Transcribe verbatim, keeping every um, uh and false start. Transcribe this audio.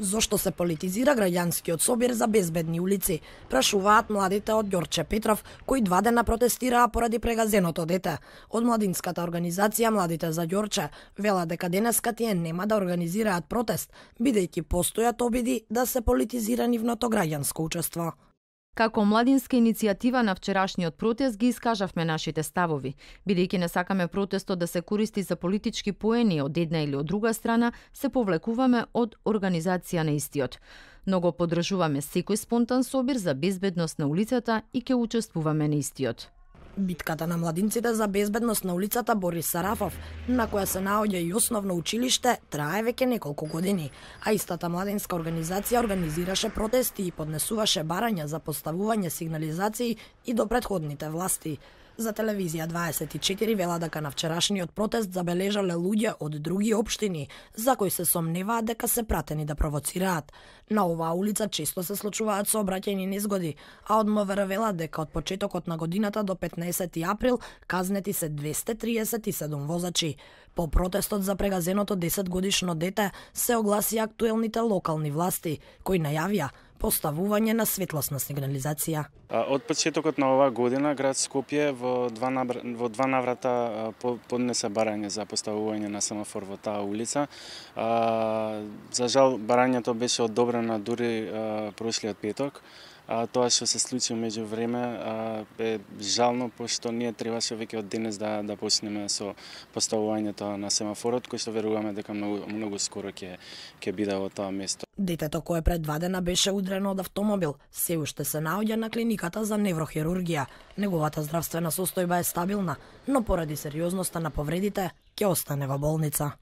Зошто се политизира граѓанскиот собир за безбедни улици? Прашуваат младите од Ѓорче Петров, кои два дена протестираа поради прегазеното дете. Од младинската организација Младите за Ѓорче велат дека денеска тие нема да организираат протест, бидејќи постојат обиди да се политизира нивното граѓанско учество. Како младинска иницијатива на вчерашниот протест ги искажавме нашите ставови. Бидејќи не сакаме протестот да се користи за политички поени од една или од друга страна, се повлекуваме од организација на истиот. Много поддржуваме секој спонтан собир за безбедност на улицата и ќе учествуваме на истиот. Битката на младинците за безбедност на улицата Борис Сарафов, на која се наоѓа и основно училиште, трае веќе неколку години, а истата младинска организација организираше протести и поднесуваше барања за поставување сигнализации и до претходните власти. За телевизија дваесет и четири вела дека на вчерашниот протест забележале луѓе од други општини, за кои се сомневаат дека се пратени да провоцираат. На оваа улица често се случуваат сообраќајни незгоди, а од МВР велат дека од почетокот на годината до петнаесети април казнети се двесте триесет и седум возачи. По протестот за прегазеното десетгодишно дете се огласи актуелните локални власти, кои најавија поставување на светлосна сигнализација. Од почетокот на оваа година град Скопје во два, набр... во два наврата поднесе барање за поставување на семафор во таа улица. За жал барањето беше одобрено дури прошлиот петок. А, тоа што се случи меѓу време а, е жално, пошто ние требаше веќе од денес да да почнеме со поставувањето на семафорот, кој што веруваме дека многу многу скоро ќе ќе биде во тоа место. Детето кое пред два дена беше удрено од автомобил, се уште се наоѓа на клиниката за неврохирургија. Неговата здравствена состојба е стабилна, но поради сериозноста на повредите ќе остане во болница.